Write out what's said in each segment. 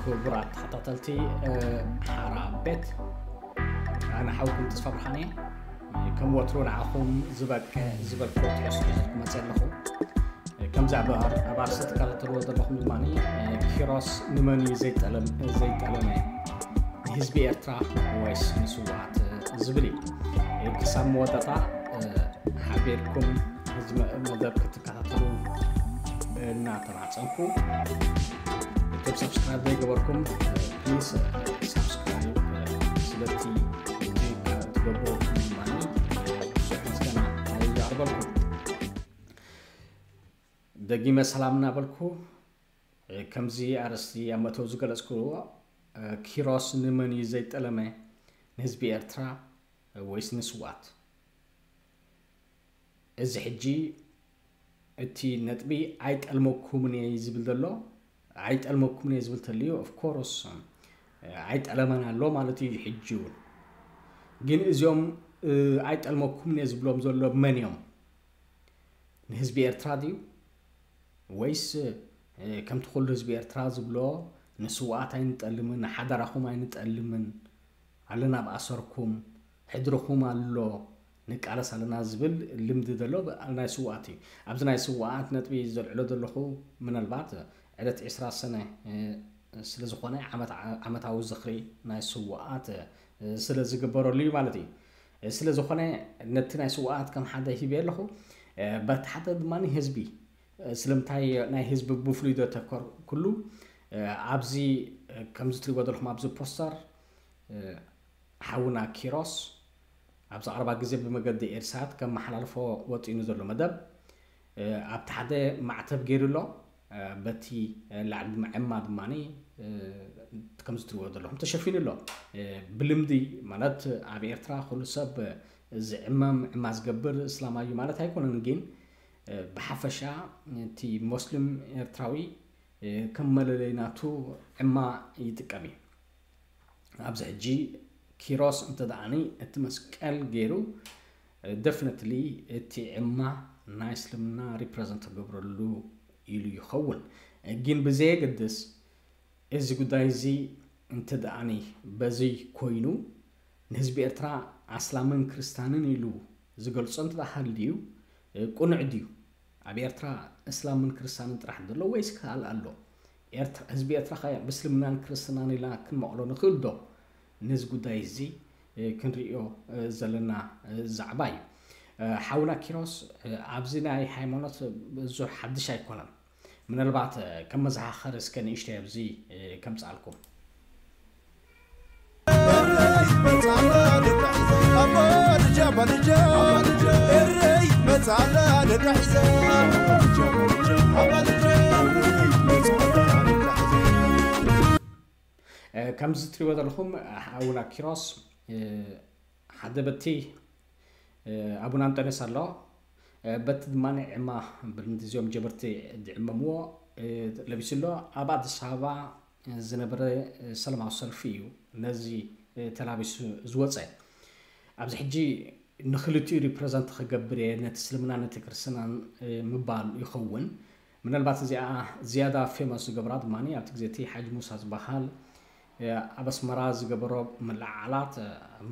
ክቡራት ተኸታተልቲ ሓራ ቤት፣ ኣነ ሓውኩም ተስፋ ብርሃን እየ። ከም ወትሩ ንዓኹም ዝበቅዕ ዝበልኩ ትሕዝቶ ሒዘ ክመፅእ ኣለኹ። ከምዚ ኣብ ኣርእስቲ ትከታተልዎ ዘለኹም ድማ፣ ኪሮስ ንመን እዩ ዘይጠለመ? ንህዝቢ ኤርትራ ወይስ ንስውኣት ዝብል እዩ። ክሳብ መወዳእታ ሓቢርኩም እዚ መደብ ክትከታተሉ እናተማፀንኩ፣ እቶም ሳብስክራይብ ዘይገበርኩም ፕሊስ ሳብስክራይብ ስለቲ ትገብሩ ድማ ብዙሕ ምስጋና የቕርበልኩም። ደጊመ ሰላም እናበልኩ፣ ከምዚ ኣርእስቲ ኣብ መእተዊ ዝገለጽኩዎ፣ ኪሮስ ንመን እዩ ዘይጠለመ? ንህዝቢ ኤርትራ ወይስ ንስውኣት? እዚ ሕጂ እቲ ነጥቢ ኣይጠልመኩምን እየ ዝብል ዘሎ። ኣይጠልመኩምን እየ ዝብል ተልዩ፣ ኦፍኮርስ ኣይጠለመን ኣሎ ማለት እዩ። ሕጂ እውን ግን እዚኦም ኣይጠልመኩምን እየ ዝብሎም ዘሎ መን እዮም? ንህዝቢ ኤርትራ ድዩ? ወይስ ከምቲ ኩሉ ህዝቢ ኤርትራ ዝብሎ፣ ንስውኣት ኣይንጠልምን፣ ንሓደራኹም ኣይንጠልምን፣ ኣለና ኣብ ኣሰርኩም፣ ሕድርኹም ኣሎ፣ ንቃለስ ኣለና ዝብል ልምዲ ዘሎ ናይ ስውኣት እዩ። ኣብዚ ናይ ስውኣት ነጥቢ ዘልዕሎ ዘለኹ፣ ምናልባት ዕለት ዕስራ ሰነ ስለ ዝኾነ፣ ዓመታዊ ዝኽሪ ናይ ስውኣት ስለ ዝግበረሉ እዩ ማለት እዩ። ስለ ዝኾነ፣ ነቲ ናይ ስውኣት ከም ሓደ ሂበ ኣለኹ። በቲ ሓደ ድማ ህዝቢ፣ ስለምንታይ ናይ ህዝቢ ብፍሉይ ዶ ተኮርኩሉ? ኣብዚ ከምዚ ትሪእዎ ዘለኹም ኣብዚ ፖስተር፣ ሓውና ኪሮስ ኣብዚ ቀረባ ግዜ ብመገዲ ኤርሳት ከመሓላልፎ ወጢኑ ዘሎ መደብ፣ ኣብቲ ሓደ ማዕተብ ገይሩ ኣሎ። በቲ ላዕሊ ድማ ዕማ ድማ ከምዚ ትሪእዎ ዘለኹም ተሸፊኑ ኣሎ። ብልምዲ ማለት ኣብ ኤርትራ ኩሉ ሰብ ዝዕመም ዕማ ዝገብር እስላማዊ እዩ ማለት ኣይኮነን፣ ግን ብሓፈሻ እቲ ሞስሊም ኤርትራዊ ከም መለለይ ናቱ ዕማ ይጥቀም እዩ። ኣብዚ ሕጂ ኪሮስ እንተ ደኣኒ እቲ መስቀል ገይሩ፣ ደፍነትሊ እቲ ዕማ ናይ እስልምና ሪፕረዘንት ክገብረሉ ኢሉ ይኸውን። ግን ብዘየገድስ እዚ ጉዳይ እዚ እንተ ደኣኒ በዚ ኮይኑ ንህዝቢ ኤርትራ ኣስላምን ክርስታንን ኢሉ ዝገልጾ እንተ ደኣ ሃልዩ ቅኑዕ ድዩ? ኣብ ኤርትራ እስላምን ክርስታንን ጥራሕ ዘሎ ወይስ ካልእ ኣሎ? ኤርትራ፣ ህዝቢ ኤርትራ ከ ብእስልምናን ክርስትናን ኢልና ክንመቕሎ ንኽእል ዶ? ነዚ ጉዳይ እዚ ክንርእዮ ዘለና ዛዕባ እዩ። ሓውና ኪሮስ፣ ኣብዚ ናይ ሃይማኖት ብዙሕ ሓድሽ ኣይኮነን። ምናልባት ከም መዘኻኸሪ እስከ ንእሽተይ ኣብዚ ከምጽኣልኩም። ከምዚ ትሪእዎ ዘለኹም ሓውና ኪሮስ ሓደ በቲ ኣቡነ ኣንጦንዮስ ኣሎ፣ በቲ ድማ ዕማ ብልምዲ እዚኦም ጀበርቲ ዝዕመምዎ ለቢሱ ኣሎ። ኣብ ኣዲስ ኣበባ ዝነበረ ሰላማዊ ሰልፊ እዩ ነዚ ተላቢሱ ዝወፀ። ኣብዚ ሕጂ ንክልቲኡ ሪፕረዘንት ክገብር እየ፣ ነቲ እስልምና ነቲ ክርስትናን ምባል ይኸውን። ምናልባት እዚኣ ዝያዳ ፌመስ ዝገብራ ድማ ኣብቲ ግዜ እቲ ሓጂ ሙሳ ዝበሃል ኣብ ኣስመራ ዝገበሮ ምልዕዓላት፣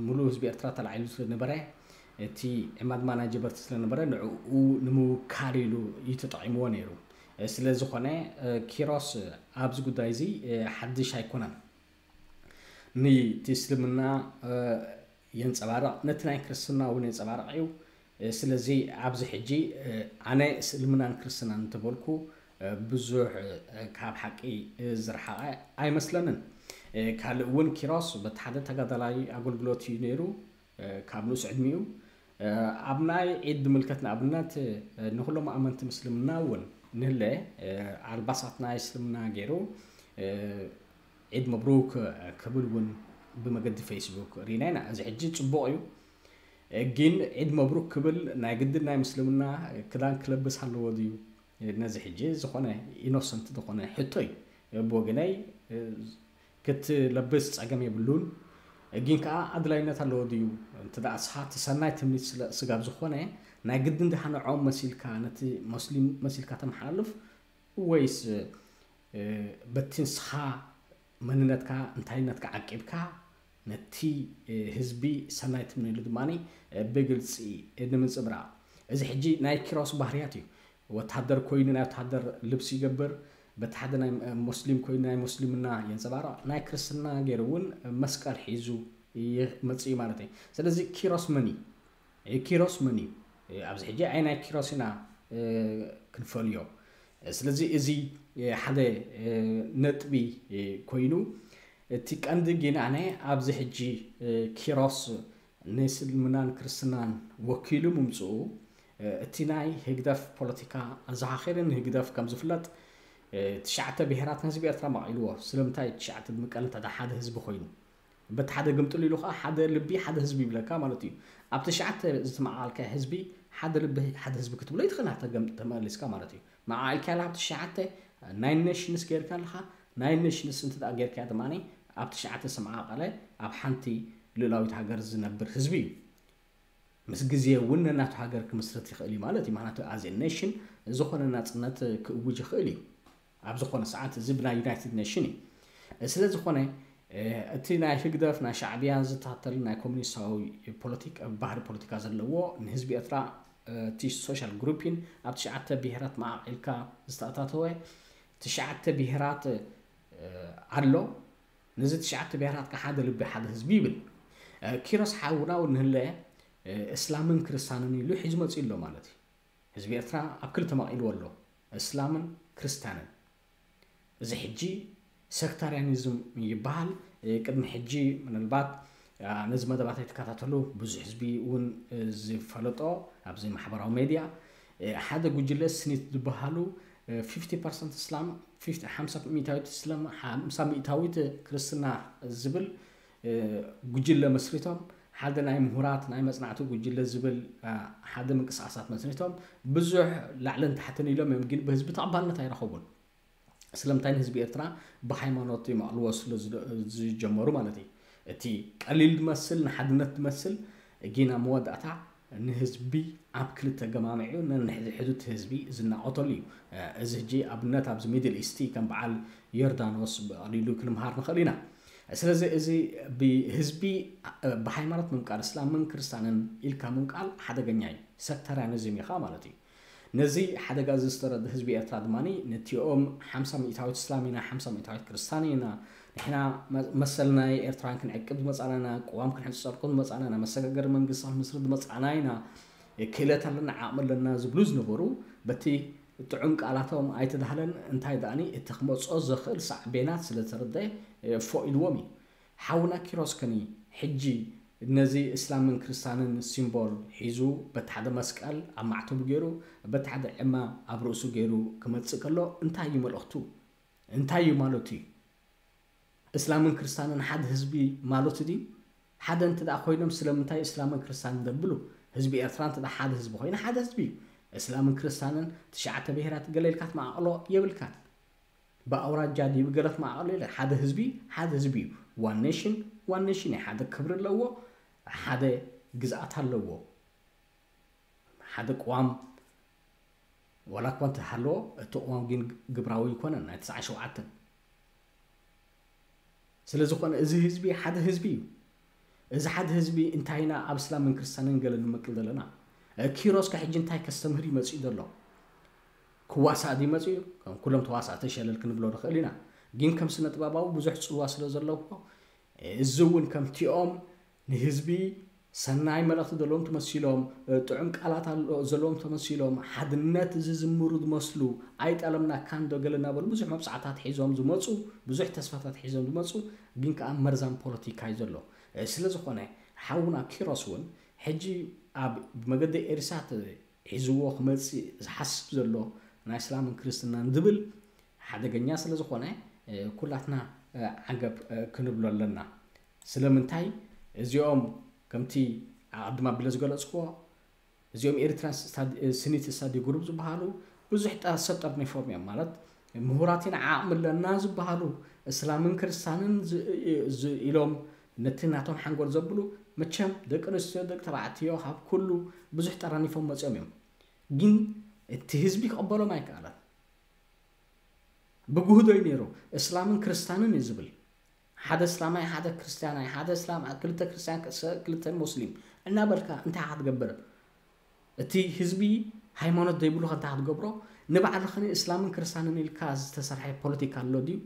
ምሉእ ህዝቢ ኤርትራ ተላዒሉ ስለነበረ፣ እቲ ዕማ ድማ ናይ ጀበርቲ ስለነበረ ንዕኡ ንምውካል ኢሉ እዩ ተጠቒምዎ ነይሩ። ስለ ዝኾነ ኪሮስ ኣብዚ ጉዳይ እዚ ሓድሽ ኣይኮነን። ነቲ እስልምና የንጸባርቕ፣ ነቲ ናይ ክርስትና እውን የንጸባርቕ እዩ። ስለዚ ኣብዚ ሕጂ ኣነ እስልምናን ክርስትናን እንተበልኩ ብዙሕ ካብ ሓቂ ዝረሓቐ ኣይመስለንን። ካልእ እውን ኪሮስ በቲ ሓደ ተጋዳላይ ኣገልግሎት እዩ ነይሩ ካብ ንኡስ ዕድሚኡ። ኣብ ናይ ዒድ ምልከት ንኣብነት ንኩሎም ኣመንቲ ምስልምና እውን ንህለ ኣልባሳት ናይ እስልምና ገይሩ ዒድ መብሩክ ክብል እውን ብመገዲ ፌስቡክ ርኢና ኢና። እዚ ሕጂ ጽቡቕ እዩ፣ ግን ዒድ መብሩክ ክብል ናይ ግድን ናይ ምስልምና ክዳን ክለብስ ኣለዎ ድዩ? ነዚ ሕጂ ዝኾነ ኢኖሰንት ዝኾነ ሕቶ እዩ። ብወገነይ ክትለብስ ጸገም የብሉን፣ ግን ከኣ ኣድላይነት ኣለዎ ድዩ? እንተ ደኣ ንስኻ እቲ ሰናይ ትምኒት ስለ ስጋብ ዝኾነ ናይ ግድን ድኣ ንዕኦም መሲልካ ነቲ ሞስሊም መሲልካ ተመሓላልፍ ወይስ በቲ ንስኻ መንነትካ እንታይነትካ ዓቂብካ ነቲ ህዝቢ ሰናይ ትምነሉ ድማ ብግልፂ ንምንፅብራቕ። እዚ ሕጂ ናይ ኪሮስ ባህርያት እዩ። ወታደር ኮይኑ ናይ ወታደር ልብሲ ይገብር፣ በቲ ሓደ ናይ ሙስሊም ኮይኑ ናይ ሙስሊምና የንፀባርቕ፣ ናይ ክርስትና ገይሩ እውን መስቀል ሒዙ ይመፅእ እዩ ማለት እዩ። ስለዚ ኪሮስ መን እዩ? ኪሮስ መን እዩ? ኣብዚ ሕጂ ኣይ ናይ ኪሮስ ኢና ክንፈልዮ። ስለዚ እዚ ሓደ ነጥቢ ኮይኑ፣ እቲ ቀንዲ ግን ኣነ ኣብዚ ሕጂ ኪሮስ ንእስልምናን ክርስትናን ወኪሉ ምምፅኡ፣ እቲ ናይ ህግደፍ ፖለቲካ ኣዘኻኺርን፣ ህግደፍ ከም ዝፍለጥ ትሽዓተ ብሄራት ንህዝቢ ኤርትራ ማቒልዎ። ስለምንታይ ትሽዓተ ብምቀል እንተ ሓደ ህዝቢ ኮይኑ በቲ ሓደ ግምጥል ኢሉ ከዓ ሓደ ልቢ ሓደ ህዝቢ ይብለካ ማለት እዩ። ኣብ ትሽዓተ ዝተመዓልካ ህዝቢ ሓደ ልቢ ሓደ ህዝቢ ክትብሎ ይትኽእል፣ ተመሊስካ ማለት እዩ። መዓልካ ላ ኣብ ትሽዓተ ናይ ኔሽንስ ጌርካ ኣለኻ። ናይ ኔሽንስ እንተ ጌርካ ድማ ኣብ ትሽዓተ ዝተመዓቐለ ኣብ ሓንቲ ልኡላዊት ሃገር ዝነብር ህዝቢ እዩ። ምስ ግዜ እውን ነናቱ ሃገር ክምስርት ይኽእል እዩ ማለት እዩ። ምክንያቱ ኣዚ ኔሽን ዝኾነ ናፅነት ክእውጅ ይኽእል እዩ ኣብ ዝኾነ ሰዓት። እዚ ብናይ ዩናይትድ ኔሽን እዩ። ስለ ዝኾነ እቲ ናይ ህግደፍ ናይ ሻዕብያን ዝታተል ናይ ኮሚኒስታዊ ፖለቲክ ባህሪ ፖለቲካ ዘለዎ ንህዝቢ ኤርትራ እቲ ሶሻል ግሩፒን ኣብ ትሽዓተ ብሄራት መዓቂልካ ዝተኣታተወ ትሽዓተ ብሄራት ኣሎ። ነዚ ትሽዓተ ብሄራት ከ ሓደ ልቢ ሓደ ህዝቢ ይብል። ኪሮስ ሓውና እውን ንህለ እስላምን ክርስታንን ኢሉ ሒዙ መፅኡ ኣሎ ማለት እዩ። ህዝቢ ኤርትራ ኣብ ክልተ መቒልዎ ኣሎ፣ እስላምን ክርስታንን። እዚ ሕጂ ሰክታርያኒዝም ይበሃል። ቅድሚ ሕጂ ምናልባት ነዚ መደባት ኣይትከታተሉ፣ ብዙሕ ህዝቢ እውን ዝፈለጦ ኣብዚ ማሕበራዊ ሜድያ ሓደ ጉጅለ ስኒት ዝበሃሉ ፊፍቲ ፐርሰንት እስላም፣ ሓምሳ ሚእታዊት እስላም፣ ሓምሳ ሚእታዊት ክርስትና ዝብል ጉጅለ መስሪቶም፣ ሓደ ናይ ምሁራት ናይ መጽናዕቲ ጉጅለ ዝብል ሓደ ምንቅስቃሳት መስሪቶም፣ ብዙሕ ላዕልን ታሕትን ኢሎም እዮም፣ ግን ብህዝቢ ተቐባልነት ኣይረኸቡን። ስለምንታይ ንህዝቢ ኤርትራ ብሃይማኖት ይመቕልዎ ስለ ዝጀመሩ ማለት እዩ። እቲ ቀሊል ዝመስል ንሓድነት ዝመስል ግን ኣብ መወዳእታ ንህዝቢ ኣብ ክልተ ገማሚዑ ነንሕድሕዱ እቲ ህዝቢ ዝናቆተሉ እዩ። እዚ ሕጂ ኣብነት ኣብዚ ሚድል ኢስቲ ከም በዓል ዮርዳኖስ ብቐሊሉ ክንምሃር ንኽእል ኢና። ስለዚ እዚ ብህዝቢ ብሃይማኖት ምምቃል እስላምን ክርስታንን ኢልካ ምምቃል ሓደገኛ እዩ። ሰክታርያኒዝም ኢኻ ማለት እዩ። ነዚ ሓደጋ እዚ ዝተረደ ህዝቢ ኤርትራ ድማ ነቲኦም ሓምሳ ሚእታዊት እስላም ኢና፣ ሓምሳ ሚእታዊት ክርስታን ኢና፣ ንሕና መሰልና ኤርትራውያን ክንዕቅብ ዝመጻና ኢና፣ ቅዋም ክንሕጸርኩም ዝመጻና ኢና፣ መሰጋገሪ መንግስቲ ክንምስርት ዝመጻና ኢና፣ ክእለት ኣለና፣ ዓቕሚ ኣለና ዝብሉ ዝነበሩ በቲ ጥዑም ቃላቶም ኣይተዳህለን። እንታይ ደኣኒ እቲ ክመጾ ዘኽእል ሳዕቤናት ስለ ተረደ ፎ ኢልዎም እዩ። ሓውና ኪሮስ ከኒ ሕጂ ነዚ እስላምን ክርስታንን ሲምቦል ሒዙ በቲ ሓደ መስቀል ኣብ ማዕተቡ ገይሩ በቲ ሓደ ዕማ ኣብ ርእሱ ገይሩ ክመጽእ ከሎ እንታይ እዩ መልእኽቱ? እንታይ እዩ ማለቱ እዩ? እስላምን ክርስታንን ሓደ ህዝቢ ማለቱ ድዩ? ሓደ እንተ ደኣ ኮይኖም ስለምንታይ እስላምን ክርስታንን ደብሉ? ህዝቢ ኤርትራ እንተ ደኣ ሓደ ህዝቢ ኮይኑ ሓደ ህዝቢ እዩ። እስላምን ክርስታንን ትሽዓተ ብሄራት ገለ ኢልካ ትመዓቕሎ የብልካን። ብኣውራጃ ድዩ ብገለ ትመዓቕሎ የለ። ሓደ ህዝቢ ሓደ ህዝቢ እዩ። ዋን ኔሽን ዋን ኔሽን እዩ። ሓደ ክብሪ ኣለዎ፣ ሓደ ግዝኣት ኣለዎ። ሓደ ቅዋም ዋላ እኳ እንተሃለዎ እቲ ቅዋም ግን ግብራዊ ኣይኮነን ናይ ትስዓ ሸውዓተን። ስለ ዝኾነ እዚ ህዝቢ ሓደ ህዝቢ እዩ። እዚ ሓደ ህዝቢ እንታይ ኢና ኣብ እስላምን ክርስታንን ገለ ንመቅል ዘለና? ኪሮስ ከ ሕጂ እንታይ ከስተምህር እዩ መጺኡ ዘሎ? ክዋሳእ ድዩ መጺኡ? ከም ኩሎም ተዋሳእቲ ሸለል ክንብሎ ንኽእል ኢና። ግን ከም ስነ ጥበባዊ ብዙሕ ጽልዋ ስለ ዘለዎ እዚ እውን ከምቲኦም ንህዝቢ ሰናይ መልእኽቲ ዘለዎም ተመሲሎም፣ ጥዑም ቃላት ዘለዎም ተመሲሎም፣ ሓድነት ዝዝምሩ ዝመስሉ፣ ኣይጠለምናካን ዶ ገለ እናበሉ ብዙሕ መብጻዕታት ሒዞም ዝመጹ፣ ብዙሕ ተስፋታት ሒዞም ዝመጹ፣ ግን ከኣ መርዛም ፖለቲካ እዩ ዘሎ። ስለ ዝኾነ ሓውና ኪሮስ እውን ሕጂ ኣብ ብመገዲ ኤሪሳት ሒዝዎ ክመጽእ ዝሓስብ ዘሎ ናይ እስላምን ክርስትናን ዝብል ሓደገኛ ስለ ዝኾነ ኩላትና ዓገብ ክንብሎ ኣለና። ስለምንታይ እዚኦም ከምቲ ኣቐድም ኣቢለ ዝገለጽክዎ እዚኦም ኤሪትራን ስኒት ስታዲ ግሩፕ ዝበሃሉ ብዙሕ ሰብ ጠርኒፎም እዮም። ማለት ምሁራት ኢና ዓቕሚ ኣለና ዝበሃሉ እስላምን ክርስታንን ኢሎም ነቲ ናቶም ሓንጎል ዘብሉ መቸም ደቂ ኣንስትዮ ደቂ ተባዕትዮ ካብ ኩሉ ብዙሕ ጠራኒፎም መፅኦም እዮም። ግን እቲ ህዝቢ ክቕበሎም ኣይከኣለን። ብጉህዶ እዩ ነይሩ። እስላምን ክርስታንን እዩ ዝብል። ሓደ እስላማይ ሓደ ክርስትያናይ፣ ሓደ እስላም ክልተ ክርስትያን ክልተ ሙስሊም እናበልካ እንታይ ክትገብር? እቲ ህዝቢ ሃይማኖት ዘይብሉ ከንታ ክትገብሮ፣ ንባዕልኽን እስላምን ክርስትያንን ኢልካ ዝተሰርሐ ፖለቲካ ኣሎ ድዩ?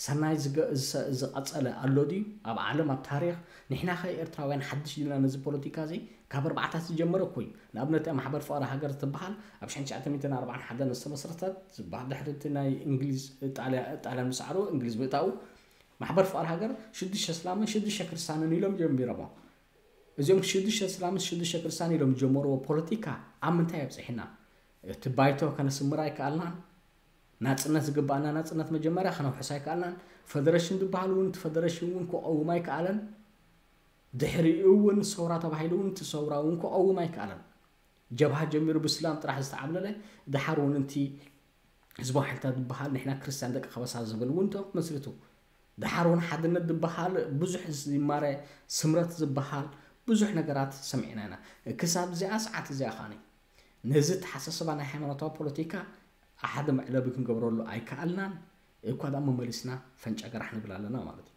ሰናይ ዝገ- ዝሰ- ዝቐጸለ ኣሎ ድዩ? ኣብ ዓለም ኣብ ታሪኽ ንሕና ከ ኤርትራውያን ሓድሽ ድና ነዚ ፖለቲካ እዚ ካብ ኣርባዕታት ዝጀመረ እኮ እዩ። ንኣብነት ማሕበር ፍቕሪ ሃገር ትበሃል ኣብ ሽሕን ትሽዓተ ሚእትን ኣርባዓን ሓደን ዝተመስረተት ዝበሃል ድሕሪ እቲ ናይ እንግሊዝ ጣልያ- ጣልያን ምስዓሩ እንግሊዝ ምእታው ማሕበር ፍቕሪ ሃገር ሽዱሽተ እስላምን ሽዱሽተ ክርስትያንን ኢሎም ጀሚሮሞ። እዚኦም ሽዱሽተ እስላምን ሽዱሽተ ክርስትያን ኢሎም ዝጀመርዎ ፖለቲካ ኣብ ምንታይ ኣብፅሕና? እቲ ባይቶ ከነስምር ኣይከኣልናን። ናፅነት ዝግባኣና ናፅነት መጀመርያ ከነውሕስ ኣይከኣልናን። ፈደረሽን ዝበሃል እውን እቲ ፈደረሽን እውን ክቐውም ኣይከኣለን። ድሕሪኡ እውን ሰውራ ተባሂሉ እውን እቲ ሰውራ እውን ክቐውም ኣይከኣለን። ጀብሃ ጀሚሩ ብስላም ጥራሕ ዝተዓብለለ ድሓር እውን እቲ ህዝባዊ ሓይልታት ዝበሃል ንሕና ክርስትያን ደቂ ከበሳ ዝብል እውን ተመስሪቱ። ድሓር እውን ሓድነት ዝበሃል ብዙሕ ዝማረ ስምረት ዝበሃል ብዙሕ ነገራት ሰሚዕና ኢና። ክሳብ እዚኣ ሰዓት እዚኣ ኸዓኒ ነዚ ተሓሳስባ ናይ ሃይማኖታዊ ፖለቲካ ሓደ መዕለቢ ክንገብረሉ ኣይከኣልናን። እኳ ደኣ መመሊስና ፈንጫ ገራሕ ንብል ኣለና ማለት እዩ።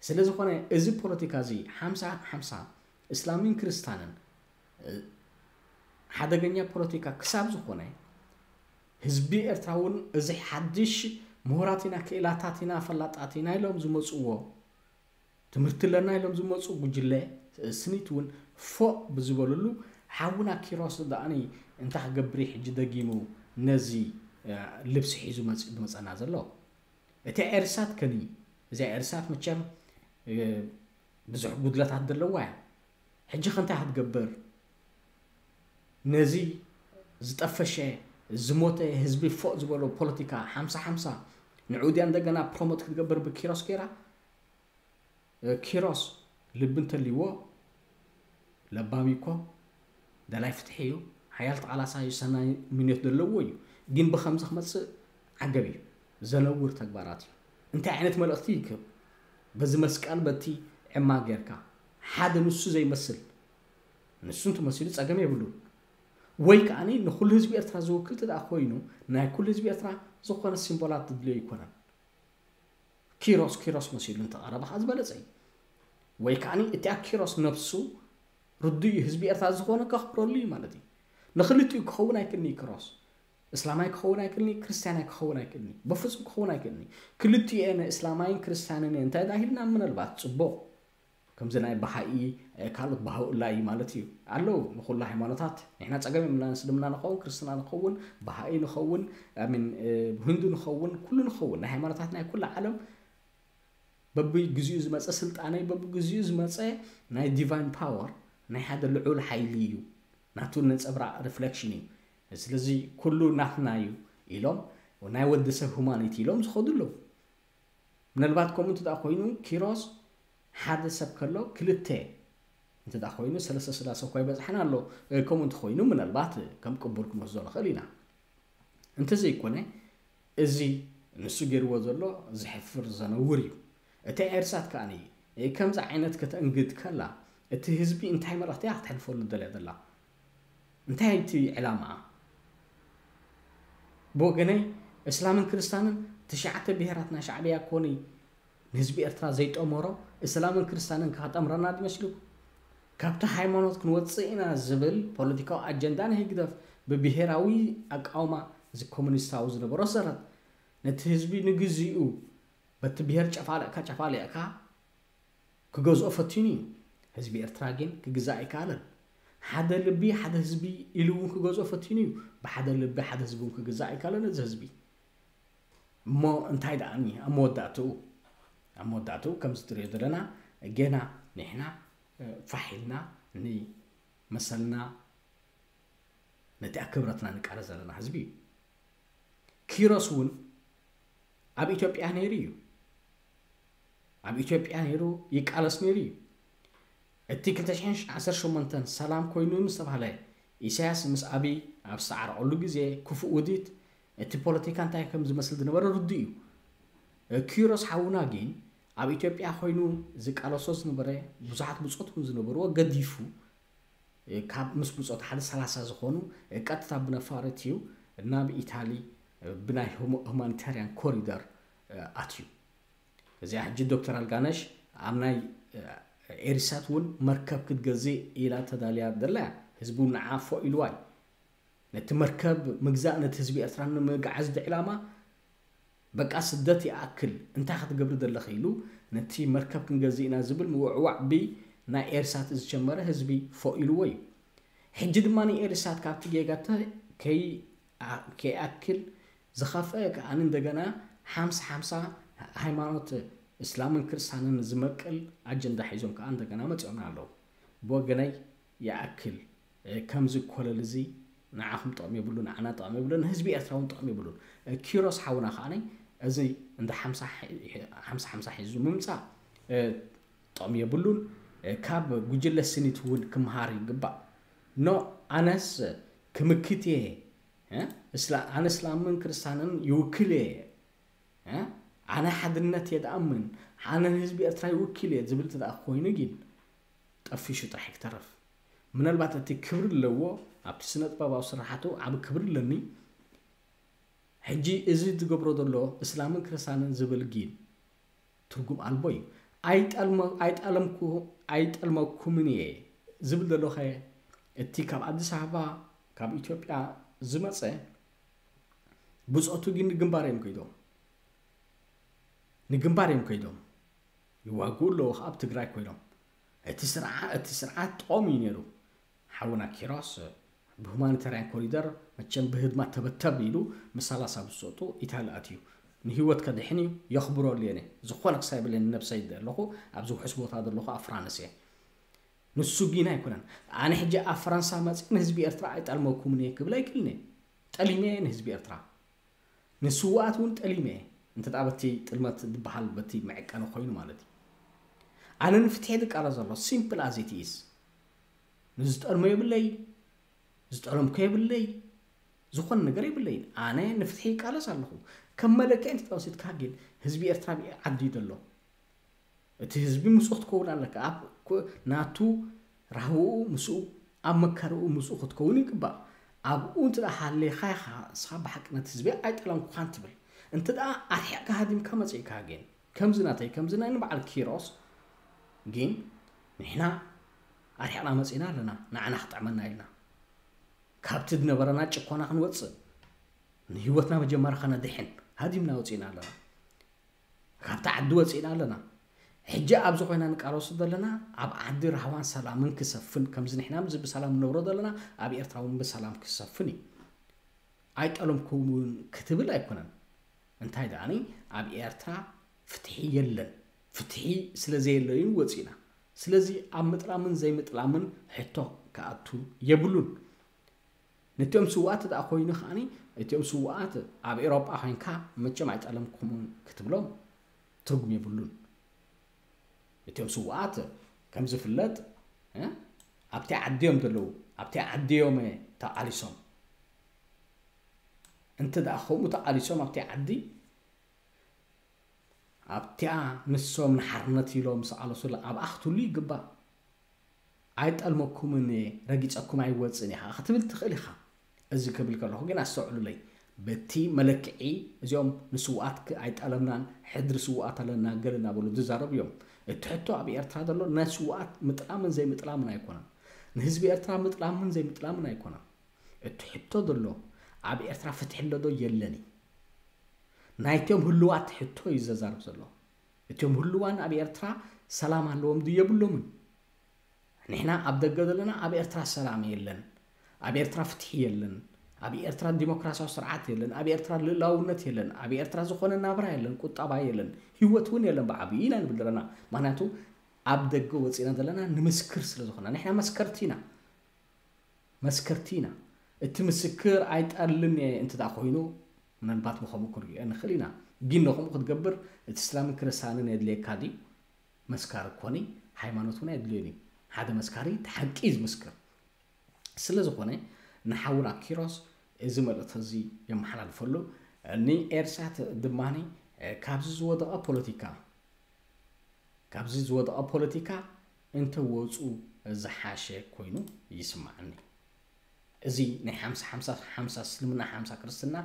ስለ ዝኾነ እዚ ፖለቲካ እዚ ሓምሳ ሓምሳ እስላምን ክርስታንን ሓደገኛ ፖለቲካ ክሳብ ዝኾነ ህዝቢ ኤርትራ እውን እዚ ሓድሽ ምሁራት ኢና ክኢላታት ኢና ፈላጣት ኢና ኢሎም ዝመፅዎ ትምህርቲ ኣለና ኢሎም ዝመፁ ጉጅለ ስኒት እውን ፎእ ብዝበልሉ ሓውና ኪሮስ ደኣኒ እንታይ ክገብር እዩ ሕጂ ደጊሙ ነዚ ልብሲ ሒዙ መፂኡ ዝመፀና ዘሎ እቲ ኤርሳት ከኒ እዚኣ ኤርሳት መቸም ብዙሕ ጉድለታት ዘለዋ እያ ሕጂ ከንታይ ክትገብር ነዚ ዝጠፈሸ ዝሞተ ህዝቢ ፎእ ዝበሎ ፖለቲካ ሓምሳ ሓምሳ ንዑ ድያ እንደገና ፕሮሞት ክትገብር ብኪሮስ ገይራ ኪሮስ ልቢ እንተልይዎ ለባም እኮ ደላይ ፍትሒ እዩ ሓያል ተቓላሳይ እዩ ሰናይ ምንዮት ዘለዎ እዩ ግን ብኸምዚ ክመፅእ ዓገብ እዩ ዘነውር ተግባራት እዩ እንታይ ዓይነት መልእኽቲ ይክብ በዚ መስቀል በቲ ዕማ ጌርካ ሓደ ንሱ ዘይመስል ንሱ እንተመሲሉ ጸገም የብሉን ወይ ከዓኒ ንኹሉ ህዝቢ ኤርትራ ዝውክል ትደኣ ኮይኑ ናይ ኩሉ ህዝቢ ኤርትራ ዝኾነ ሲምቦላት ድድልዮ ይኮነን ኪሮስ ኪሮስ መሲሉ እንተቐረበ ከዓ ዝበለጸ እዩ ወይ ከዓኒ እቲኣ ኪሮስ ነብሱ ርዱይ ህዝቢ ኤርትራ ዝኾነ ከኽብረሉ እዩ ማለት እዩ ንክልቲኡ ክኸውን ኣይክልኒ ኪሮስ እስላማይ ክኸውን ኣይክልኒ ክርስትያናይ ክኸውን ኣይክልኒ በፍጹም ክኸውን ኣይክልኒ ክልቲኡ እየ እስላማይን ክርስትያንን እየ እንታይ ዳሂልና ምናልባት ጽቡቕ ከምዚ ናይ ባሃኢ ካልኦት ባሃኡላ እዩ ማለት እዩ ኣለዉ ንኩሉ ሃይማኖታት ንሕና ፀገም የምና እስልምና ንኸውን ክርስትና ንኸውን ባሃኢ ንኸውን ሚን ህንዱ ንኸውን ኩሉ ንኸውን ናይ ሃይማኖታት ናይ ኩላ ዓለም በብግዚኡ ዝመፀ ስልጣነ በብግዚኡ ዝመፀ ናይ ዲቫይን ፓወር ናይ ሓደ ልዑል ሓይሊ እዩ ናቱ ነፀብራቕ ሪፍሌክሽን እዩ ስለዚ ኩሉ ናትና እዩ ኢሎም ናይ ወዲ ሰብ ሁማኒቲ ኢሎም ዝኸዱ ኣለዉ ምናልባት ከምኡ እንተ ኮይኑ ኪሮስ ሓደ ሰብ ከሎ ክልተ እንተ ኮይኑ ሰለስተ ስላሰ እኳ ይበፅሐና ኣሎ ከምኡ እንተኮይኑ ምናልባት ከም ቅቡል ክንወስዶ ንኽእል ኢና እንተዘይኮነ እዚ ንሱ ገይርዎ ዘሎ ዝሕፍር ዘነውር እዩ እቲ ኤርሳት ከኣ ከምዚ ዓይነት ከተእንግድ ከላ እቲ ህዝቢ እንታይ መልእኽቲ እያ ክተሕልፈሉ ደልያ ዘላ እንታይ እቲ ዕላማኣ ብወገነይ እስላምን ክርስታንን ትሽዓተ ብሄራት ናይ ሻዕብያ ኮኒ ንህዝቢ ኤርትራ ዘይጠመሮ እስላምን ክርስታንን ከጠምረና ድመስልኩም ካብቲ ሃይማኖት ክንወፅእ ኢና ዝብል ፖለቲካዊ ኣጀንዳ ንህግደፍ ብብሄራዊ ኣቃውማ እዚ ኮሙኒስታዊ ዝነበሮ ሰረት ነቲ ህዝቢ ንግዚኡ በቲ ብሄር ጨፋልቕካ ጨፋሊቕካ ክገዝኦ ፈቲኑ እዩ። ህዝቢ ኤርትራ ግን ክግዛእ ኣይከኣለን። ሓደ ልቢ ሓደ ህዝቢ ኢሉ እውን ክገዝኦ ፈቲኑ እዩ። ብሓደ ልቢ ሓደ ህዝቢ እውን ክግዛእ ኣይከኣለን እዚ ህዝቢ። እሞ እንታይ ደኣኒ ኣብ መወዳእትኡ ኣብ መወዳእትኡ ከምዚ ትሪኦ ዘለና ጌና ንሕና ፋሕ ኢልና ንመሰልና ነቲ ክብረትና ንቃለስ ዘለና ህዝቢ እዩ። ኪሮስ እውን ኣብ ኢትዮጵያ ነይሩ እዩ። ኣብ ኢትዮጵያ ነይሩ ይቃለስ ነይሩ እዩ። እቲ ክልተ ሽሕን ዓሰርተ ሸሞንተን ሰላም ኮይኑ ምስ ተባህለ ኢሳያስ ምስ ኣብይ ኣብ ዝተዓረቐሉ ግዜ ክፉእ ውዲት እቲ ፖለቲካ እንታይ ከም ዝመስል ዝነበረ ርዱእ እዩ። ኪሮስ ሓውና ግን ኣብ ኢትዮጵያ ኮይኑ ዝቃለሶ ዝነበረ ብዙሓት ብጾት እውን ዝነበርዎ ገዲፉ ካብ ምስ ብጾት ሓደ ሰላሳ ዝኾኑ ቀጥታ ብነፋሪት እዩ ናብ ኢታሊ ብናይ ሁማኒታርያን ኮሪደር ኣትዩ። እዚኣ ሕጂ ዶክተር ኣልጋነሽ ኣብ ናይ ኤሪሳት እውን መርከብ ክትገዝእ ኢላ ተዳልያ ደላ ህዝቡ ንዓ ፎ ኢልዋይ ነቲ መርከብ ምግዛእ ነቲ ህዝቢ ኤርትራ ንምግዓዝ ድዕላማ በቃ ስደት ይኣክል እንታይ ክትገብሪ ዘለኺ ኢሉ ነቲ መርከብ ክንገዝእ ኢና ዝብል ምውዕዋዕ ብ ናይ ኤርሳት ዝጀመረ ህዝቢ ፎ ኢልዎ እዩ። ሕጂ ድማ ንኤርሳት ካብቲ ጌጋ ከይኣክል ዝኸፍአ ከኣ እንደገና ሓምሳ ሓምሳ ሃይማኖት እስላምን ክርስታንን ዝመቅል ኣጀንዳ ሒዞም ከኣ እንደገና መፂኦም ኣለዉ። ብወገነይ ይኣክል ከምዚ ኮለል እዚ ንዓኹም ጥቕሚ የብሉ ንዓና ጥቕሚ የብሉ ንህዝቢ ኤርትራ እውን ጥቕሚ የብሉን። ኪሮስ ሓውና ከዓኒ እዚ እንደ ሓምሳ ሓምሳ ሒዙ ምምፃእ ጥቕሚ የብሉን። ካብ ጉጅለ ስኒት እውን ክምሃር ይግባእ። ኖ ኣነስ ክምክት እየ ኣነ እስላምን ክርስታንን ይውክል እየ ኣነ ሓድነት እየ ድኣምን ኣነ ንህዝቢ ኤርትራ ይውክል እየ ዝብል ትደኣ ኮይኑ ግን ጠፊሹ ጥራሕ ክተርፍ ምናልባት እቲ ክብሪ ኣለዎ ኣብቲ ስነ ጥበባዊ ስራሓቱ ዓብ ክብሪ ኣለኒ። ሕጂ እዚ ዝገብሮ ዘሎ እስላምን ክርስታንን ዝብል ግን ትርጉም ኣልቦ እዩ። ኣይጠልመኩምን እየ ዝብል ዘሎኸ እቲ ካብ ኣዲስ ኣበባ ካብ ኢትዮጵያ ዝመፀ ብፆቱ ግን ንግንባር እዮም ከይዶም ንግንባር እዮም ከይዶም ይዋግኡ ኣለዉ ኣብ ትግራይ ኮይኖም እቲ ስርዓት ጥቆም እዩ ነይሩ። ሓውና ኪሮስ ብሁማኒታርያን ኮሪደር መቸም ብህድማ ተበተብ ኢሉ ምሳላሳ ብዝሰጡ ኢታሊ ኣትዩ ንህይወት ከድሕን እዩ። የኽብረሉ እየ ዝኾነ ክሳብ ይብለኒ ነብሰይ ኣለኹ ኣብዚ ውሑስ ቦታ ዘለኹ ኣብ ፍራንስ እየ። ንሱ ጊና ኣይኮነን ኣነ ሕጂ ኣብ ፈረንሳ መፅእ ንህዝቢ ኤርትራ ኣይጠልመኩምን እየ ክብል ኣይክልን እየ። ጠሊመ እየ ንህዝቢ ኤርትራ ንስውኣት እውን ጠሊመ እየ። እንተ በቲ ጥልመት ዝበሃል በቲ መዕቀኒ ኮይኑ ማለት እዩ። ኣነ ንፍትሒ ዝቃለስ ዘሎ simple as it is። ንዝጠልሞ የብለይ ዝጠለምኮ የብለይ ዝኾነ ነገር የብለይን። ኣነ ንፍትሒ ይቃለስ ኣለኹ። ከም መለክዒ እንተ ወሲድካ ግን ህዝቢ ኤርትራ ብኢ ዓዲ እዩ ዘሎ። እቲ ህዝቢ ምስኡ ክትከውን ኣለካ። ኣብ ናቱ ራህውኡ ምስኡ ኣብ መከርኡ ምስኡ ክትከውን ይግባእ። ኣብኡ እንተ ሃሌኻ ኢኻ ንስኻ ብሓቂ ነቲ ህዝቢ ኣይጠለምኩኻን ትብል። እንተ ኣርሒቕካ ሃዲምካ መጺእካ ግን ከምዚ ናተይ ከምዚ ናይ ንበዓል ኪሮስ ግን ንሕና ኣርሒቕና መጺእና ኣለና ንዓና ክጥዕመና ኢልና ካብቲ ዝነበረና ጭኮና ክንወጽእ ንህይወትና መጀመርያ ከነድሕን ሃዲምና ወጺእና ኣለና። ካብቲ ዓዲ ወፂእና ኣለና። ሕጂ ኣብዚ ኮይና ንቃለሱ ዘለና ኣብ ዓዲ ራህዋን ሰላምን ክሰፍን ከምዚ ንሕና ምዚ ብሰላም ንነብሮ ዘለና ኣብ ኤርትራ እውን ብሰላም ክሰፍን እዩ። ኣይጠለምኩምን ክትብል ኣይኮነን። እንታይ ደኣኒ ኣብ ኤርትራ ፍትሒ የለን። ፍትሒ ስለ ዘየለ እዩ ወፂእና። ስለዚ ኣብ ምጥላምን ዘይምጥላምን ሕቶ ክኣቱ የብሉን። ነቲኦም ስውኣት ደኣ ኮይኑ ከዓኒ እቲኦም ስውኣት ኣብ ኤሮጳ ኮይንካ መቸም ኣይጠለምኩምን ክትብሎም ትርጉም የብሉን። እቲኦም ስውኣት ከም ዝፍለጥ ኣብቲ ዓዲ እዮም ዘለዉ። ኣብቲ ዓዲ እዮም ተቓሊሶም። እንተ ደኣ ከምኡ ተቓሊሶም ኣብቲ ዓዲ ኣብቲኣ ንሶም ንሓርነት ኢሎም ዝቓለሱላ ኣብኣ ክትህሉ ይግባእ። ኣይጠልመኩምን እየ ረጊፀኩም ኣይወፅን ኢኻ ክትብል ትኽእል ኢኻ። እዚ ክብል ከለኹ ግን ኣስተውዕሉለይ በቲ መለክዒ እዚኦም ንስውኣት ኣይጠለምናን ሕድሪ ስውኣት ኣለና ገለ እናበሉ ዝዛረቡ እዮም። እቲ ሕቶ ኣብ ኤርትራ ዘሎ ናይ ስውኣት ምጥላምን ዘይምጥላምን ኣይኮነን። ንህዝቢ ኤርትራ ምጥላምን ዘይምጥላምን ኣይኮነን። እቲ ሕቶ ዘሎ ኣብ ኤርትራ ፍትሒ ኣሎ ዶ የለን እዩ። ናይቶም ህልዋት ሕቶ እዩ ዘዛርብ ዘሎ። እቶም ህልዋን ኣብ ኤርትራ ሰላም ኣለዎም ድዩ የብሎምን? ንሕና ኣብ ደገ ዘለና ኣብ ኤርትራ ሰላም የለን፣ ኣብ ኤርትራ ፍትሒ የለን፣ ኣብ ኤርትራ ዲሞክራሲያዊ ስርዓት የለን፣ ኣብ ኤርትራ ልእላውነት የለን፣ ኣብ ኤርትራ ዝኾነ ናብራ የለን፣ ቁጠባ የለን፣ ህይወት እውን የለን ብዓብዩ ኢና ንብል ዘለና። ምክንያቱ ኣብ ደገ ወፂና ዘለና ንምስክር ስለ ዝኾና ንሕና መስከርቲ ኢና። መስከርቲ ኢና። እቲ ምስክር ኣይጠልን እየ እንተ ደኣ ኮይኑ ምናልባት ብኸምኡ ክንሪኦ ንኽእል ኢና። ግን ንኸምኡ ክትገብር እቲ እስላምን ክርስትያንን የድልየካ ድዩ? መስካሪ ኮኒ ሃይማኖት እውን ኣየድልዮን እዩ። ሓደ መስካሪ እቲ ሓቂ እዩ ዝምስክር። ስለ ዝኾነ ንሓውና ኪሮስ እዚ መልእኽቲ እዚ የመሓላልፈሉ። ንኤርሳት ድማ ካብዚ ዝወደቐ ፖለቲካ ካብዚ ዝወደቐ ፖለቲካ እንተወፁ ዝሓሸ ኮይኑ ይስማዓኒ። እዚ ናይ ሓምሳ ሓምሳ ሓምሳ እስልምና ሓምሳ ክርስትና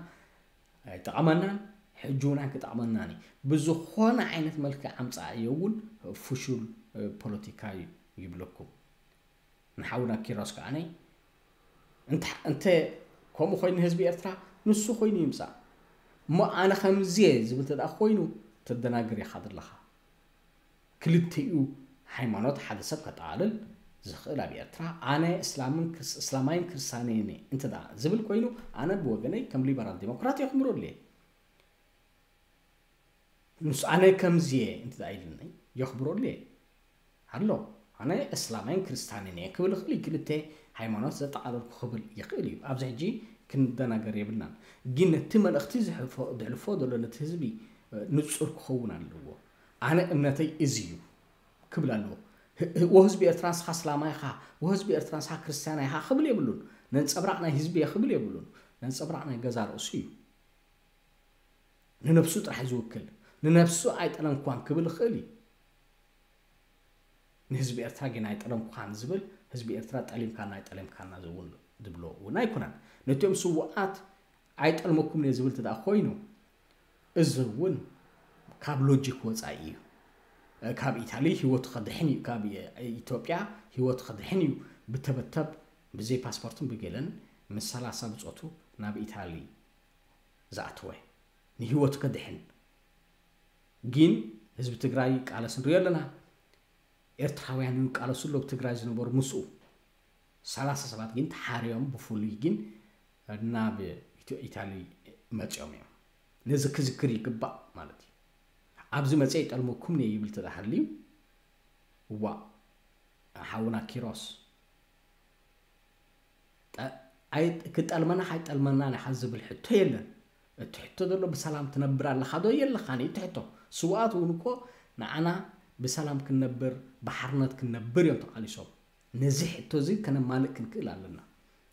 ኣይጠቐመናን። ሕጂ እውን ኣይክጠቕመናን እዩ። ብዝኾነ ዓይነት መልክዕ ኣምጻኣዮ እውን ፍሹል ፖለቲካ እዩ ይብለኩም። ንሓውና ኪሮስ ከዓነይ እንተ ከምኡ ኮይኑ ህዝቢ ኤርትራ ንሱ ኮይኑ ይምጻእ እሞ ኣነ ከምዚየ ዝብል ተደኣ ኮይኑ ተደናግር ኢኻ ዘለኻ። ክልቲኡ ሃይማኖት ሓደ ሰብ ከጠቓልል ዝኽእል ኣብ ኤርትራ ኣነ እስላማይን ክርስትያንን እንተ ዝብል ኮይኑ ኣነ ብወገነይ ከም ሊበራል ዲሞክራት የኽብረሉ እየ። ንሱ ኣነ ከምዚ እየ እንተ ኢልኒ የኽብረሉ እየ። ኣሎ ኣነ እስላማይን ክርስትያንን እየ ክብል ይኽእል እዩ። ክልተ ሃይማኖት ዘጠቓለልኩ ክብል ይኽእል እዩ። ኣብዚ ሕጂ ክንደናገር የብልናን። ግን ነቲ መልእኽቲ ዘሕልፎ ዘሎ ነቲ ህዝቢ ንጹር ክኸውን ኣለዎ። ኣነ እምነተይ እዚ እዩ ክብል ኣለዎ። ወ ህዝቢ ኤርትራ ንስኻ እስላማይ ኢኻ፣ ወ ህዝቢ ኤርትራ ንስኻ ክርስትያናይ ኢኻ ክብል የብሉን። ነንጸብራቕ ናይ ህዝቢ እየ ክብል የብሉን። ነንጸብራቕ ናይ ገዛ ርእሱ እዩ። ንነብሱ ጥራሕ ዝውክል፣ ንነብሱ ኣይጠለምኳን ክብል ይኽእል እዩ። ንህዝቢ ኤርትራ ግን ኣይጠለምኳን ዝብል ህዝቢ ኤርትራ ጠሊምካና ኣይጠለምካና ዝውን ዝብሎ እውን ኣይኮነን። ነቲኦም ስውኣት ኣይጠልመኩም እየ ዝብል ተደኣ ኮይኑ እዚ እውን ካብ ሎጂክ ወፃኢ እዩ። ካብ ኢታሊ ህይወቱ ከድሕን እዩ፣ ካብ ኢትዮጵያ ህይወቱ ከድሕን እዩ ብተበተብ ብዘይ ፓስፖርትን ብገለን ምስ ሰላሳ ብፆቱ ናብ ኢታሊ ዝኣተወ ንህይወቱ ከድሕን። ግን ህዝቢ ትግራይ ይቃለስ ንሪኦ ኣለና። ኤርትራውያን ይቃለሱ ኣለዉ ትግራይ ዝነበሩ ምስኡ። ሰላሳ ሰባት ግን ተሓርዮም ብፍሉይ ግን ናብ ኢትዮ ኢታሊ መፅኦም እዮም። ነዚ ክዝክር ይግባእ ማለት እዩ። ኣብዚ መፀ ይጠልመኩም እየ ይብል ተዳሃልዩ እዋ ሓውና ኪሮስ ክጠልመና ካይጠልመና ንሓ ዝብል ሕቶ የለን። እቲ ሕቶ ዘሎ ብሰላም ትነብር ኣለኻ ዶ የለኻን እዩ እቲ ሕቶ። ስውኣት እውን እኮ ንዓና ብሰላም ክንነብር ብሓርነት ክንነብር እዮም ተቓሊሶም። ነዚ ሕቶ እዚ ከነማልእ ክንክእል ኣለና።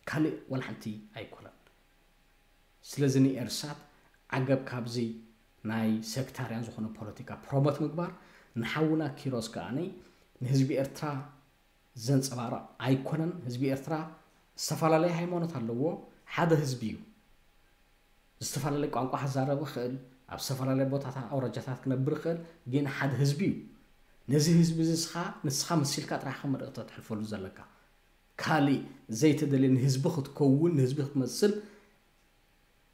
ካልእ ዋላ ሓንቲ ኣይኮነን። ስለዚ ንኤርሳት ዓገብ ካብዚ ናይ ሴክታርያን ዝኾነ ፖለቲካ ፕሮሞት ምግባር ንሓውና ኪሮስ ከዓነይ ንህዝቢ ኤርትራ ዘንጸባርቕ ኣይኮነን። ህዝቢ ኤርትራ ዝተፈላለየ ሃይማኖት ኣለዎ፣ ሓደ ህዝቢ እዩ። ዝተፈላለየ ቋንቋ ክዛረብ ይኽእል፣ ኣብ ዝተፈላለየ ቦታታት ኣውራጃታት ክነብር ይኽእል፣ ግን ሓደ ህዝቢ እዩ። ነዚ ህዝቢ እዚ ንስኻ ንስኻ መሲልካ ጥራሕ ከም መልእኽቲ ተሕልፈሉ ዘለካ። ካሊእ ዘይተደልየ ንህዝቢ ክትከውን ንህዝቢ ክትመስል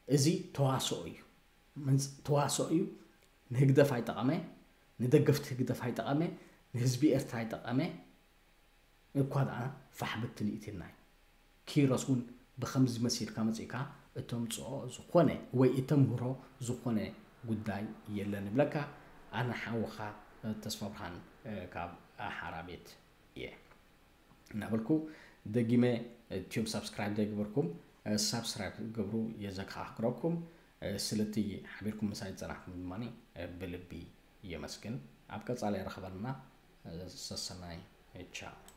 እዚ ተዋስኦ እዩ። ተዋስኦ እዩ። ንህግደፍ ኣይጠቐመ፣ ንደገፍቲ ህግደፍ ኣይጠቐመ፣ ንህዝቢ ኤርትራ ኣይጠቐመ። እኳ ደኣ ፋሕ ብትን ኢትናይ ኪሮስ እውን ብኸምዚ መሲልካ መጺእካ እተምጽኦ ዝኾነ ወይ እተምህሮ ዝኾነ ጉዳይ የለን ይብለካ። ኣነ ሓውኻ ተስፋ ብርሃን ካብ ሓራ ቤት እየ እናበልኩ ደጊመ እትዮም ሳብስክራይብ ዘይገበርኩም ሳብስክራይብ ገብሩ የዘካኽረኩም። ስለቲ ሓቢርኩም ምሳይ ዝጸናሕኩም ድማ ብልቢ የመስግን። ኣብ ቀጻሊ ረኸበልና። ሰሰናይ። ቻው።